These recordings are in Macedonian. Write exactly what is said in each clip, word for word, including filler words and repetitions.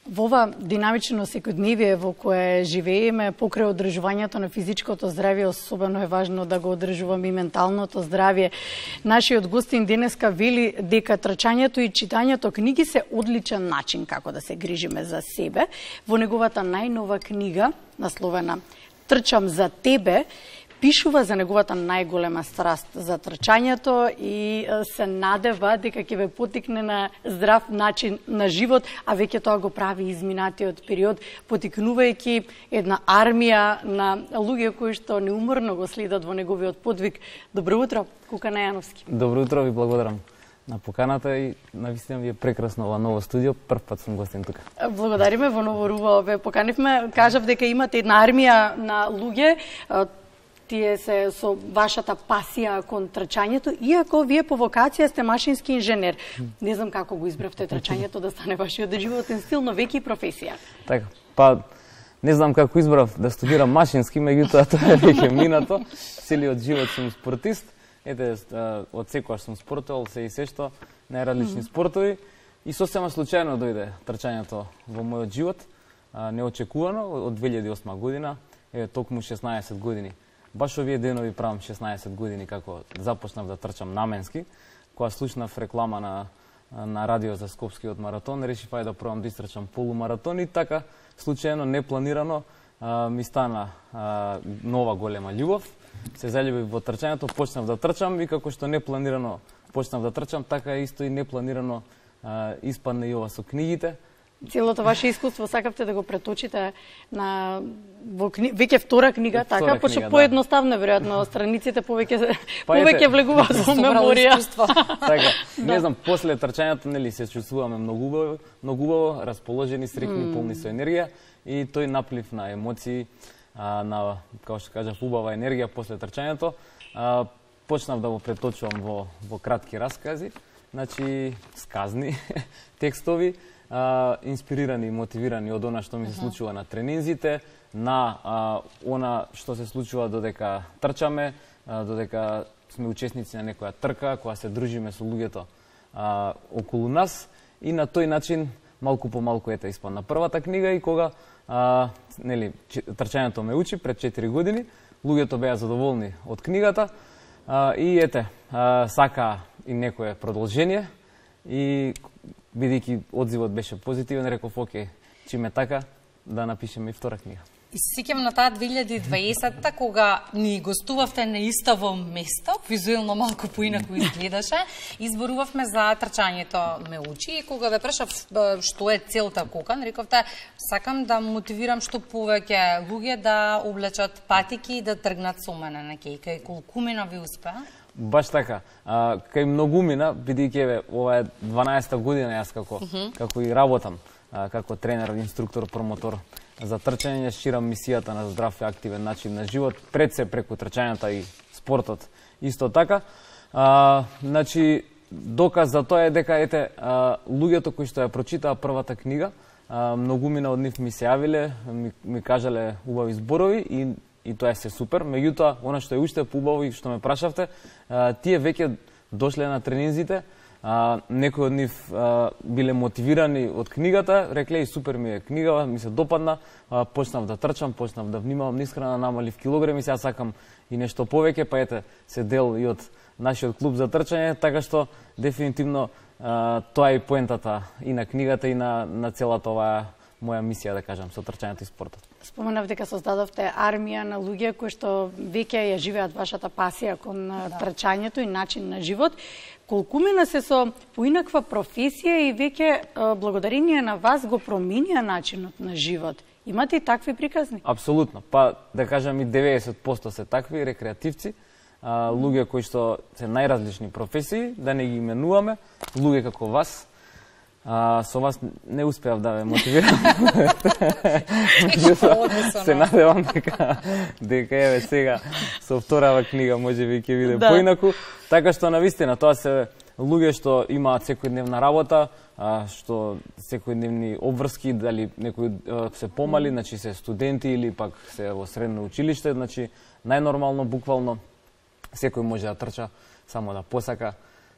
Во ова динамично секојдневие во кое живееме, покрај одржувањето на физичкото здравје, особено е важно да го одржуваме и менталното здравје. Нашиот гостин денеска вели дека трчањето и читањето книги се одличен начин како да се грижиме за себе. Во неговата најнова книга, насловена "Трчам за тебе", пишува за неговата најголема страст за трчањето и се надева дека ќе ве потикне на здрав начин на живот, а веќе тоа го прави изминатиот период, потикнувајќи една армија на луѓе кои што неуморно го следат во неговиот подвиг. Добро утро, Кука Најановски. Добро утро, ви благодарам на поканата и навистина ви е прекрасно ова ново студио. Прв пат сум гостин тука. Благодариме, во Ново Руво ве поканивме. Кажав дека имате една армија на луѓе. Тие се со вашата пасија кон трчањето, иако вие по вокација сте машински инженер. Не знам како го избравте трчањето да стане вашиот животен стил, но веќе и професија. Така, па не знам како избрав да студирам машински, меѓутоа тоа е веќе минато. Целиот живот сум спортист. Ете, од секогаш сум спортувал, се и се што, најразлични спортови. И сосема случајно дојде трчањето во мојот живот, неочекувано, од две илјади и осма година, е токму шеснаесет години. Баш овие денови правам шеснаесет години како започнав да трчам наменски, кога слушнав реклама на на радио за Скопскиот маратон, решив ајде да пробам да истрчам полумаратон и така случајно, непланирано ми стана нова голема љубов. Се заљубив во трчањето, почнав да трчам и како што непланирано почнав да трчам, така исто и непланирано испадна и ова со книгите. Целото ваше искуство сакавте да го преточите на во кни... веќе втора книга, втора така, пошто да. Поедноставно веројатно страниците повеќе па повеќе влегуваат во меморија. Така, не знам, после трчањето нели се чувствуваме многу убаво, многу убаво, расположени, среќни, mm. полни со енергија и тој наплив на емоции, а, на како што кажав убава енергија после трчањето, а, почнав да го преточувам во во кратки раскази, значи сказни текстови. Uh, инспирирани и мотивирани од она што ми се случува на тренинзите, на uh, она што се случува додека трчаме, uh, додека сме учесници на некоја трка, кога се дружиме со луѓето uh, околу нас и на тој начин малку по малку ете испадна првата книга и кога uh, нели трчањето ме учи пред четири години, луѓето беа задоволни од книгата uh, и ете uh, сака и некое продолжение и бидејќи одзивот беше позитивен, реков, окей, чиме така, да напишеме и втора книга. И се сеќавам на таа две илјади и дваесетта, кога ни гостувавте на истово место, визуелно малку поинаку изгледаше, изборувавме за трчањето ме учи и кога ве прашав што е целта Кука, рековте, сакам да мотивирам што повеќе луѓе да облечат патики и да тргнат со мене на кејка. И колкумина ви успеа? Баш така. А, кај многумина, бидејќи ова е дванаесета година јас како, uh -huh. како и работам, а, како тренер, инструктор, промотор за трчање, ширам мисијата на здрав и активен начин на живот, пред се преку трчањето и спортот. Исто така, а, значи, доказ за тоа е дека, ете, а, луѓето кои што ја прочитаа првата книга, а, многумина од нив ми се јавиле, ми, ми кажале убави зборови и и тоа е се супер. Меѓутоа, она што е уште поубаво и што ме прашавте, а, тие веќе дошле на тренинзите, а, некои од нив а, биле мотивирани од книгата, рекле и супер ми е книга, ми се допадна, а, почнав да трчам, почнав да внимавам на исхрана, намалив килограми, сега сакам и нешто повеќе, па ете, се дел и од нашиот клуб за трчање, така што дефинитивно а, тоа е и поентата и на книгата и на, на целата оваа моја мисија, да кажам, со трчањето и спортот. Споменав дека создадовте армија на луѓе кои што веќе ја живеат вашата пасија кон да. трчањето и начин на живот. Колкумина се со поинаква професија и веќе благодарение на вас го променија начинот на живот. Имате и такви приказни? Апсолутно. Па да кажам и деветдесет проценти се такви рекреативци, а, луѓе кои што се најразлични професии, да не ги именуваме, луѓе како вас. А, со вас не успеав да ве мотивирам. Се надевам дека дека еве сега со вторава книга можеби ќе биде да. Поинаку, така што навистина тоа се луѓе што имаат секојдневна работа, а, што секојдневни обврски, дали некои се помали, значи се студенти или пак се во средно училиште, значи најнормално буквално секој може да трча само да посака,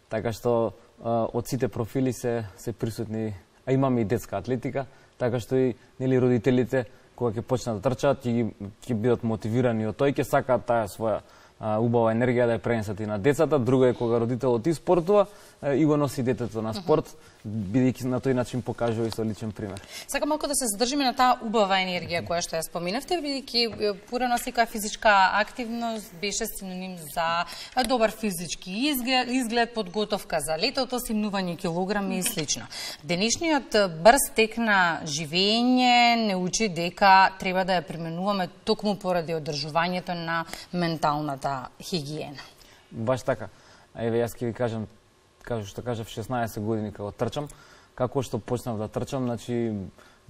така што од сите профили се се присутни а имаме и детска атлетика, така што и нели родителите кога ќе почнат да трчаат ќе ќе бидат мотивирани од тој ќе сакаат таа своја а, убава енергија да ја пренесат и на децата. Друго е кога родителот и спортува и го носи детето на спорт, бидејќи на тој начин покажува и со личен пример. Сакам малку да се задржиме на таа убава енергија која што ја споминавте, бидејќи порано секоја физичка активност беше синоним за добар физички изглед, изглед подготовка за летото, симнување килограми и слично. Денешниот брз тек на живење не учи дека треба да ја применуваме токму поради одржувањето на менталната хигиена. Баш така. Еве јас ќе ви кажам, како што кажав, шеснаесет години како трчам, како што почнав да трчам, значи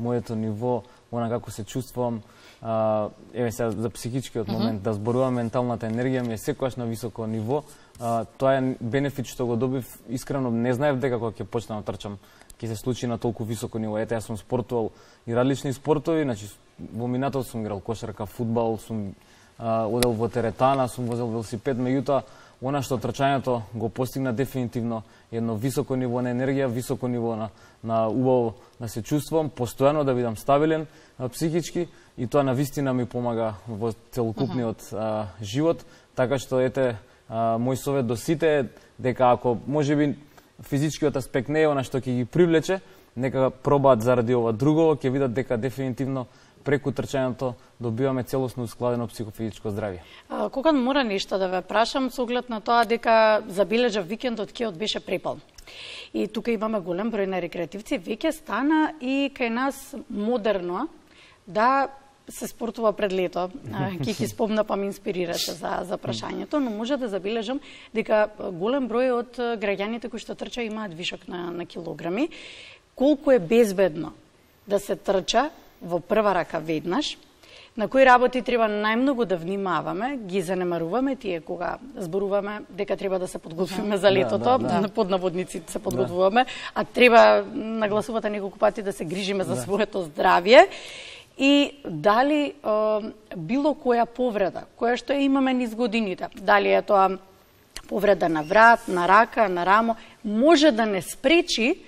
моето ниво, она како се чувствувам, а, еве сега за психичкиот момент, mm -hmm. да зборувам менталната енергија ми е секогаш на високо ниво. А, тоа е бенефит што го добив, искрено не знаев дека кога ќе почнам да трчам ќе се случи на толку високо ниво. Ете, јас сум спортувал и различни спортови, значи во минатото сум играл кошарка, фудбал, сум а, одел во теретана, сум возел велосипед, меѓутоа она што трчањето го постигна дефинитивно едно високо ниво на енергија, високо ниво на, на убаво да се чувствувам, постојано да бидам стабилен а, психички и тоа навистина ми помага во целокупниот а, живот, така што ете а, мој совет до сите е дека ако можеби физичкиот аспект не е она што ќе ги привлече, нека пробаат заради ова друго, ќе видат дека дефинитивно преку трчањето добиваме целосно ускладено психофизичко здравје. А, кога мора нешто да ве прашам со оглед на тоа дека забележав викендот кеот беше препълн. И тука имаме голем број на рекреативци, веќе стана и кај нас модерно да се спортува пред лето. Ки ќе спомна па ме инспирирате за за прашањето, но може да забележам дека голем број од граѓаните кои што трча имаат вишок на на килограми. Колку е безбедно да се трча во прва рака веднаш, на кои работи треба најмногу да внимаваме, ги занемаруваме тие кога зборуваме дека треба да се подготвиме за летото, да, да, да. Под наводници се подготвуваме, да. А треба, нагласувате неколку пати, да се грижиме за да. Своето здравје. И дали е, било која повреда, која што имаме низ годините, дали е тоа повреда на врат, на рака, на рамо, може да не спречи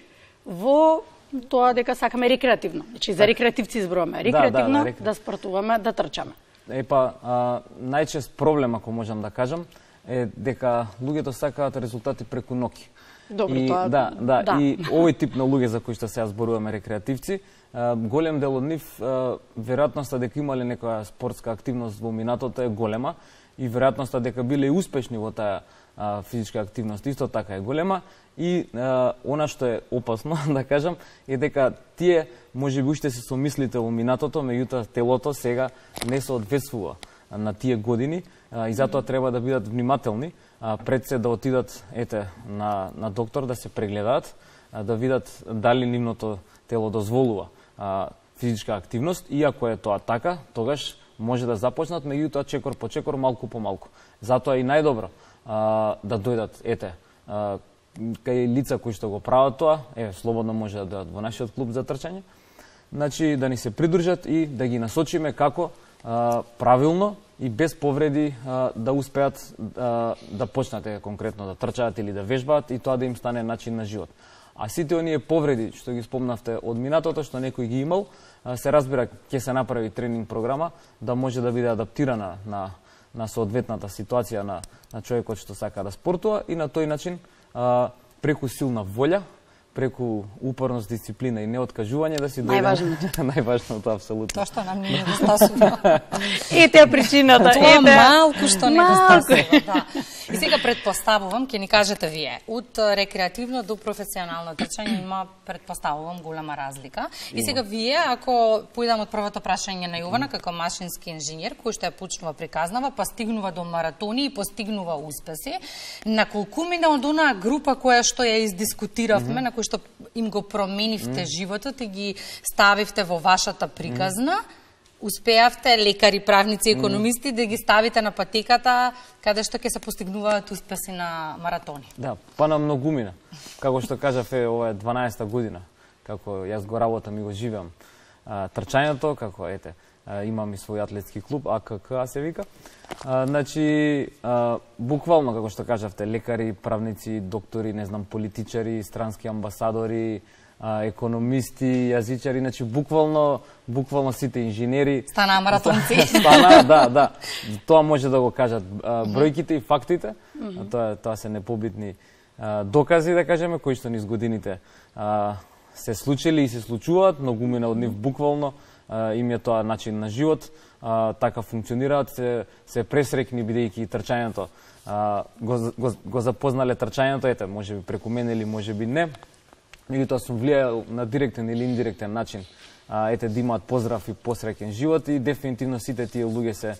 во тоа дека сакаме рекреативно. Значи за рекреативци зборуваме, рекреативно да, да, да, да спортуваме, да трчаме. Епа, а, најчест проблем, ако можам да кажам, е дека луѓето сакаат резултати преку ноќи. Добро, и, тоа... Да, да, да. И овој тип на луѓе за кои што сега зборуваме рекреативци, а, голем дел од нив, а, веројатноста дека имале некоја спортска активност во минатото е голема и веројатноста дека биле успешни во таа а, физичка активност исто така е голема. И а, она што е опасно, да кажам, е дека тие можеби уште се somислите во минатото, меѓутоа телото сега не соодветствува на тие години а, и затоа треба да бидат внимателни а, пред се да отидат ете на на доктор да се прегледаат, а, да видат дали нивното тело дозволува а, физичка активност и ако е тоа така, тогаш може да започнат, меѓутоа чекор по чекор, малку по малку. Затоа и најдобро а, да дојдат ете а, кај лица кои што го прават тоа, е слободно може да дојдат во нашиот клуб за трчање. Значи да ни се придружат и да ги насочиме како а, правилно и без повреди а, да успеат а, да почнат конкретно да трчаат или да вежбаат и тоа да им стане начин на живот. А сите оние повреди што ги спомнавте од минатото што некој ги имал, а, се разбира ќе се направи тренинг програма да може да биде адаптирана на на соодветната ситуација на на човекот што сака да спортува и на тој начин а, преку силна волја, преку упорност, дисциплина и неоткажување да си дојде. Најважното. Најважното, апсолутно. Тоа што нам не недостасува. Ете причината. Тоа малку што недостасува, да. И сега предпоставувам, ќе ни кажете вие, од рекреативно до професионално трчање има, предпоставувам, голема разлика. И сега вие, ако поидам од првото прашање на Јована, како машински инженер, кој што ја почнува приказнава, па стигнува до маратони и постигнува успеси, на колку мина од онаа група која што ја издискутиравме, mm -hmm. на кој што им го променивте mm -hmm. животот и ги ставивте во вашата приказна, mm -hmm. успеавте, лекари, правници, економисти, mm. да ги ставите на патеката каде што ќе се постигнуваат успеси на маратони? Да, па на многумина. Како што кажав, е ова е дванаесета година како јас го работам и го живеам а, трчањето, како ете, а, имам и свој атлетски клуб, А К К се вика. А, значи, а, буквално како што кажавте, лекари, правници, доктори, не знам, политичари, странски амбасадори, економисти, јазичари, значи буквално буквално сите инженери станаа маратонци. Стана, да, да. Тоа може да го кажат бројките и фактите, а тоа тоа се непобитни докази, да кажеме, кои што низ годините се случили и се случуваат, многумина од нив буквално им е тоа начин на живот, така функционираат, се, се пресрекни бидејќи трчањето го, го, го запознале трчањето, ете, може би преку мене или може би не, меѓутоа сум влијаел на директен или индиректен начин, ете, да имаат поздрав и посреќен живот и дефинитивно сите тие луѓе се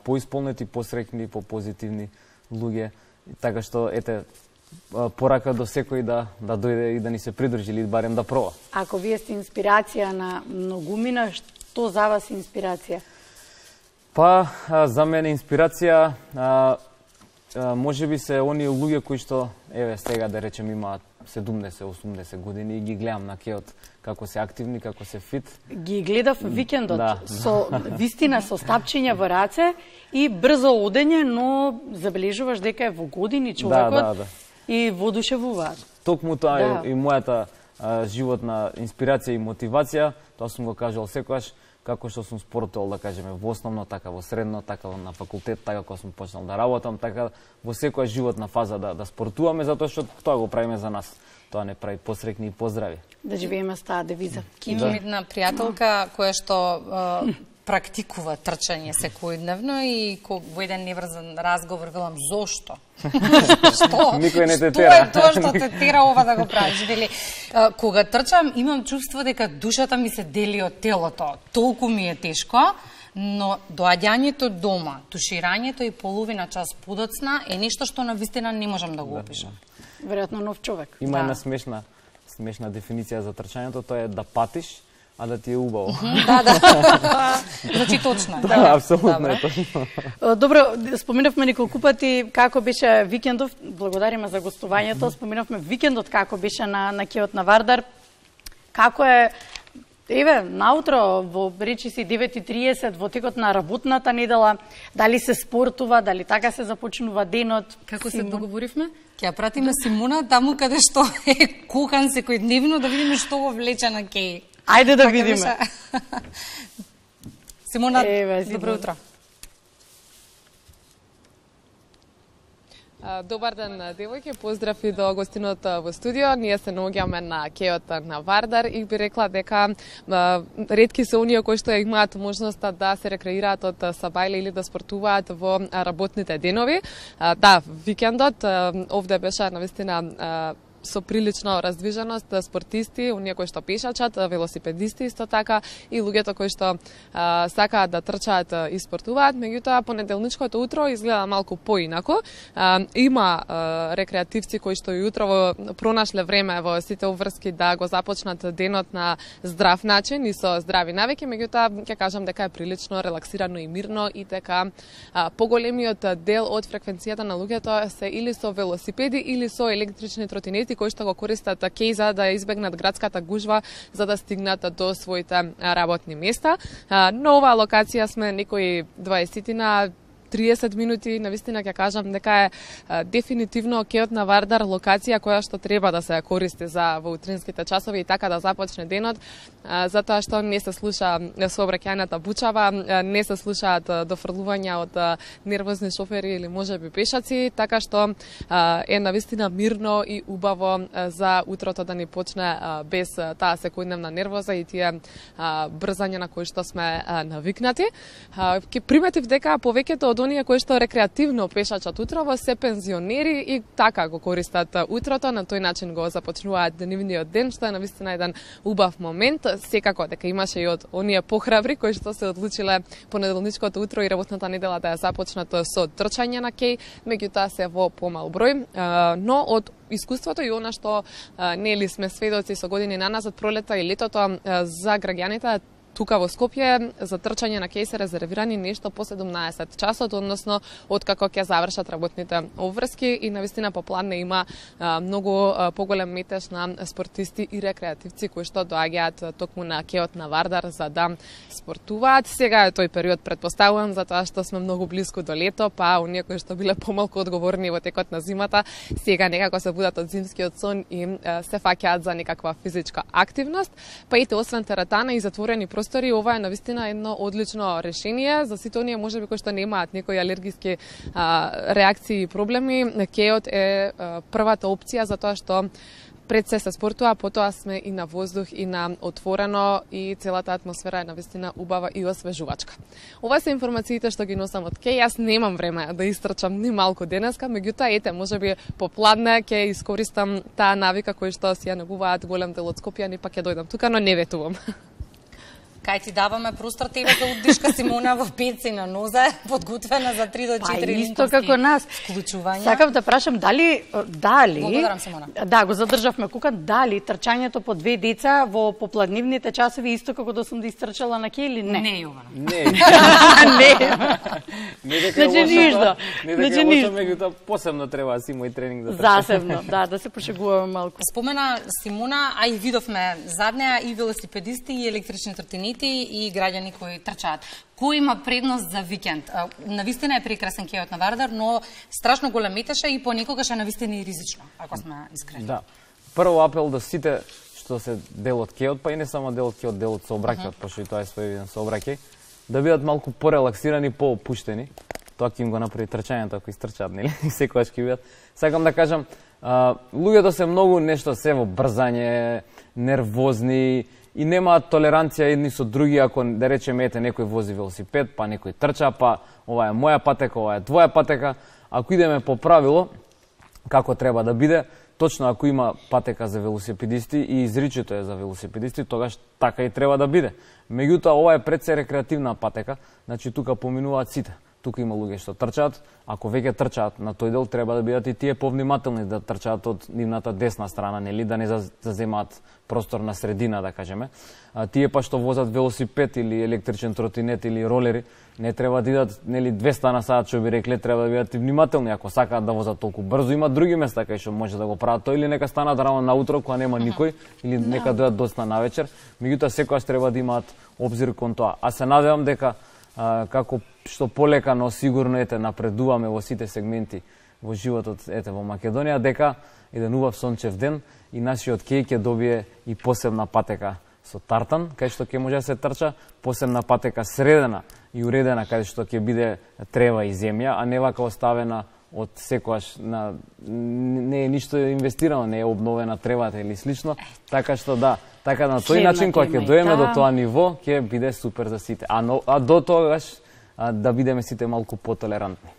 поисполнети, посреќни, попозитивни луѓе, така што, ете, порака до секој да да дојде и да ни се придружи или барем да проба. Ако вие сте инспирација на многумина, што за вас е инспирација? Па, за мене инспирација а, а, може би се оние луѓе кои што, еве сега да речем, имаат седумдесет-осумдесет години и ги гледам на кеот како се активни, како се фит. Ги гледав викендот, да, со вистина со стапчиња во раце и брзо одење, но забележуваш дека е во години човекот. Да, да, да. И воодушевуваат. Токму тоа да. е и мојата а, животна инспирација и мотивација, тоа сум го кажал секогаш, како што сум спортувал, да кажеме, во основно, така во средно, така на факултет, така кога сум почнал да работам, така во секоја животна фаза да, да спортуваме, затоа што тоа го правиме за нас. Тоа не прави посреќни и поздрави. Да живееме с таа девиза. Имам една пријателка која што практикува трчање секојдневно и во еден неврзан разговор велам зошто? Што? Никој не те тера. Тоа што те тера ова да го правиш, вели. Кога трчам имам чувство дека душата ми се дели од телото. Толку ми е тешко, но доаѓањето дома, туширањето и половина час подоцна е нешто што навистина не можам да го опишам. Веројатно нов човек. Има да. една смешна смешна дефиниција за трчањето, тоа е да патиш, а да ти е убаво. Да, да. Значи точно. Да, апсолутно е точно. Добро, споминавме неколку пати како беше викендов, благодариме за гостувањето, споминавме викендот како беше на, на кеот на Вардар. Како е, еве, наутро, во речи си девет и триесет, во текот на работната недела, дали се спортува, дали така се започнува денот? Како се договоривме? Ќе ја пратиме Симона таму каде што е кухан секојдневно, да видиме што го влече на кеј. Ајде да видиме. Симона, добро утро. Добар ден, девојки, поздрав и до гостинот во студио. Ние се наоѓаме на кеот на Вардар и би рекла дека ретки се оние кои што имаат можноста да се рекреираат од сабајле или да спортуваат во работните денови. Да, викендот овде беше навистина со прилично раздвиженост, спортисти, оние кои што пешачат, велосипедисти исто така и луѓето кои што а, сакаат да трчаат и спортуваат, меѓутоа понеделничкото утро изгледа малку поинако. А, има а, рекреативци кои што и утрово пронашле време во сите обврски да го започнат денот на здрав начин и со здрави навики, меѓутоа ќе кажам дека е прилично релаксирано и мирно и дека а, поголемиот дел од фреквенцијата на луѓето се или со велосипеди или со електрични тротинети кои што го користат кеј за да избегнат градската гужва за да стигнат до своите работни места. На оваа локација сме некои дваесет триесет минути, навистина ќе кажам дека е а, дефинитивно кеот на Вардар локација која што треба да се користи за во утринските часови и така да започне денот, а, затоа што не се слуша сообраќајната бучава, а, не се слушаат дофрлувања од а, нервозни шофери или можеби пешаци, така што а, е навистина мирно и убаво а, за утрото да ни почне а, без а, таа секојдневна нервоза и тие а, брзања на кои што сме а, навикнати. А, ке приметив дека повеќето од оние кои што рекреативно пешачат утрово се пензионери и така го користат утрото, на тој начин го започнуваат денивниот ден, што е навистина еден убав момент. Секако дека имаше и од оние похрабри кои што се одлучиле понеделничкото утро и работната недела да ја започнат со трчање на кеј, меѓутоа се во помал број, но од искуството и она што нели сме сведоци со години наназад, пролета и летото за граѓаните, тука во Скопје за трчање на кеј се резервирани нешто по седумнаесет часот, односно откако ќе завршат работните обврски и навистина по план не има а, многу а, поголем метеж на спортисти и рекреативци кои што доаѓаат токму на кеот на Вардар за да спортуваат. Сега е тој период, предпоставувам, затоа што сме многу близко до лето, па оние кои што биле помалку одговорни во текот на зимата, сега некако се будат од зимскиот сон и а, се фаќаат за некаква физичка активност. Па ете, освен теретана и затворени простори, ова е навистина едно одлично решение за сите оние можеби кои што немаат некои алергиски а, реакции и проблеми. Кеот е а, првата опција за тоа што пред се се спортува, потоа сме и на воздух и на отворено и целата атмосфера е навистина убава и освежувачка. Ова се информациите што ги носам од кеј. Јас немам време да истрчам ни малку денеска, меѓутоа ете, можеби попладне ќе искористам таа навика која што си ја негуваат голем дел од скопјани, па ќе дојдам тука, но не ветувам. Кај ти даваме простор тебе за удишка, Симона, во петци на нозе, подготвена за три до четири па, исто како нас. Вклучувања. Сакам да прашам дали дали Благодарам, Симона. Да, го задржавме кукан, дали трчањето по две деца во попладнивните часови исто како да сум да истрчала на кеј или не? Не, Јована. Не. Не. Не дека Значи ништо. Не Значи дека ништо. лошо, меѓутоа посебно треба да си мој тренинг да трчам. Засебно, да, да се пошегуваме малку. Спомена Симона, а и видовме заднеа и велосипедисти и електрични тротинети и граѓани кои трчаат. Кој има предност за викенд? Навистина е прекрасен кеот на Вардар, но страшно голем метеше и понекогаш е навистина и ризично, ако сме искрени. Да. Прво апел да сите што се дел од кеот, па и не само дел од кеот, дел од сообраќајот, uh -huh. пошто и тоа е свој сообраќај, да бидат малку порелаксирани, поопуштени. Тоа ќе им го направи трчањето ако истрчаат, нели? Секогаш ќе бидат. Сакам да кажам, а, луѓето се многу нешто се во брзање, нервозни и немаат толеранција едни со други, ако да речеме ете некој вози велосипед, па некој трча, па ова е моја патека, ова е твоја патека. Ако идеме по правило како треба да биде, точно ако има патека за велосипедисти и изричето е за велосипедисти, тогаш така и треба да биде. Меѓутоа ова е пред се рекреативна патека, значи тука поминуваат сите. Тука има луѓе што трчаат, ако веќе трчаат на тој дел, треба да бидат и тие повнимателни да трчаат од нивната десна страна, нели, да не заземаат простор на средина, да кажеме. А, тие па што возат велосипед или електричен тротинет или ролери, не треба да идат, нели, двеста на сат, што би рекле, треба да бидат и внимателни ако сакаат да возат толку брзо. Има други места кај што може да го прават тоа, или нека станат рано наутро кога нема никој, или нека дојдат доцна навечер. Меѓутоа секогаш треба да имаат обзир кон тоа. А се надевам дека а, како што полека, но сигурно ете напредуваме во сите сегменти во животот ете во Македонија, дека еден убав сончев ден и нашиот кеј ќе добие и посебна патека со тартан, кај што ќе може да се трча, посебна патека средена и уредена, кај што ќе биде трева и земја, а не вака оставена од секојаш на не е ништо инвестирано, не е обновена тревата или слично, така што да, така на тој начин кога ќе доеме до тоа ниво, ќе биде супер за сите. А, но, а до тогаш а, да бидеме сите малку потолерантни.